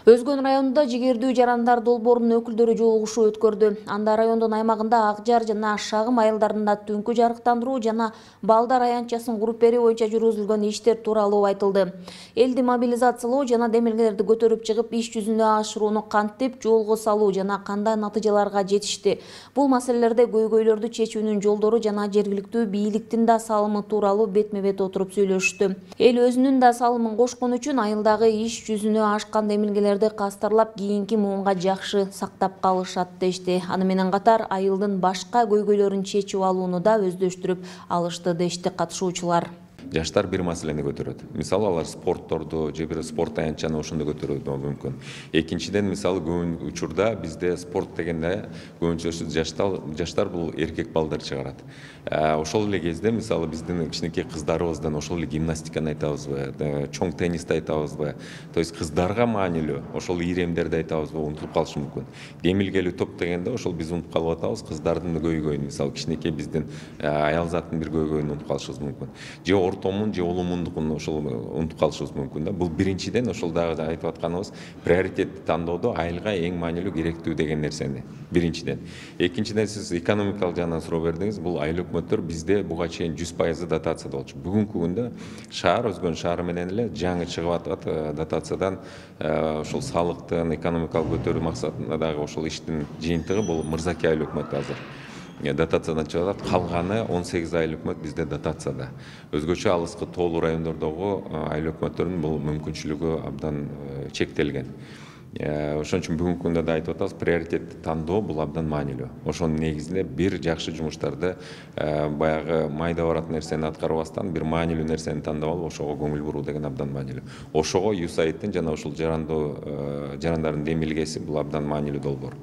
Өзгөн районунда жигердүү жарандар долбоорунун өкүлдөрү жолугушуу өткөрдү. Анда райондун аймагында Акжар жана Шагым айылдарында түнкү жарыктандыруу жана балдар аянтчасын куруп берүү боюнча жүргүзүлгөн иштер тууралуу айтылды. Элди мобилизациялоо жана демилгелерди көтөрүп чыгып, иш жүзүнө ашырууну кантип жолго салуу жана кандай натыйжаларга жетишти. Бул маселелерде көйгөйлөрдү чечүүнүн жолдору жана жергиликтүү бийликтин да салымы тууралуу бетме-бет отуруп сүйлөштү. Эл өзүнүн да салымын кошкон үчүн айылдагы иш жүзүнө ашкан демилгелерди кастарлап, кийинки муунга жакшы сактап калышат дешти. Аны менен катар айылдын башка көйгөйлөрүн чечип алууну да өздөштүрүп алышты дешти катышуучулар. Жаштар бир маселени көтөрөт. Мисалы алар спортторду же бир спорт аянтчаны ошондо көтөрөт мүмкүн. Экинчиден, мисалы көп учурда бизде спорт дегенде көбүнчөсү жаштар бул эркек балдар чыгарат. Ошол эле кезде мисалы биздин кичинекей кыздарыбыздан ошол эле гимнастиканы айтабызбы, чоң теннисти айтабызбы, то есть кыздарга маанилүү ошол ийремдерди айтабызбы, унутуп калышы мүмкүн. Демилгелүү топ дегенде ошол биз унутуп калып атабыз, кыздардын көйгөйүн, мисалы кичинекей биздин аял заттын бир көйгөйүн унутуп калышыбыз мүмкүн. Же ортомун же улумундукун ошол унутуп калышыбыз мүмкүн да. Бул биринчиден ошол дагы айтып атканыбыз приоритетти тандоодо айылга эң маанилүү керектүү деген нерсени биринчиден. Экинчиден, сиз экономикалык жагынан суроо бердиңиз. Бул айыл өкмөттөр бизде буга чейин 100% дотацияда болчу. Бүгүнкү күндө шаар, Өзгөн шаары менен эле жаңы чыгып атат дотациядан ошол салыктын экономикалык көтөрүү максатында дагы ошол иштин жыйынтыгы бул Мырзаке айыл өкмөтү азыр дотациядан чыгып атат. Калганы 18 айыл өкмөт бизде дотацияда. Өзгөчө алыскы тоолуу райондордогу айыл өкмөттөрүнүн бул мүмкүнчүлүгү абдан чектелген. Ошон үчүн бүгүнкү күндө да айтып атабыз, приоритетти тандоо бул абдан маанилүү. Ошонун негизинде бир жакшы жумуштарды баягы майда барат нерсени аткарбастан бир маанилүү нерсени тандап алып, ошого көңүл буруу деген абдан маанилүү. Ошого USAIDтин жана ушул жарандардын демилгеси бул абдан маанилүү долбоор.